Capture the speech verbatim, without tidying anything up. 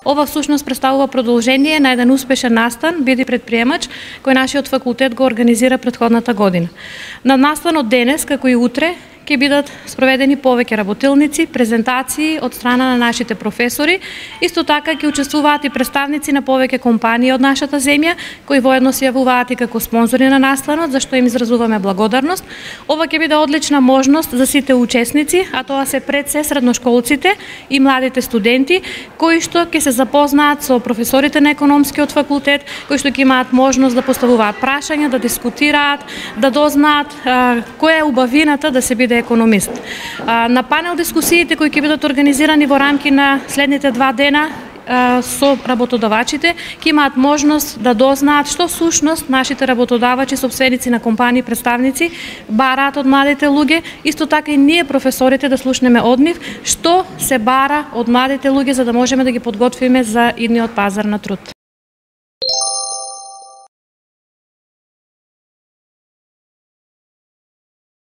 Ова всушност представува продолжение на еден успешен настан Биди предприемач кој нашиот факултет го организира претходната година. На настанот денес, како и утре, ќе бидат спроведени повеќе работилници, презентации од страна на нашите професори. Исто така ќе учествуваат и представници на повеќе компании од нашата земја, кои воедно се јавуваат и како спонзори на настанот, за што им изразуваме благодарност. Ова ќе биде одлична можност за сите учесници, а тоа се пред се средношколците и младите студенти, кои што ќе се запознаат со професорите на економскиот факултет, кои што ќе имаат можност да поставуваат прашања, да дискутираат, да дознаат а, која е убавината да се биде економист. На панел дискусиите кои ќе бидат организирани во рамки на следните два дена со работодавачите, ќе имаат можност да дознаат што сушност нашите работодавачи, сопственици на компании, представници бараат од младите луѓе, исто така и ние професорите да слушнеме од нив што се бара од младите луѓе за да можеме да ги подготвиме за идниот пазар на труд.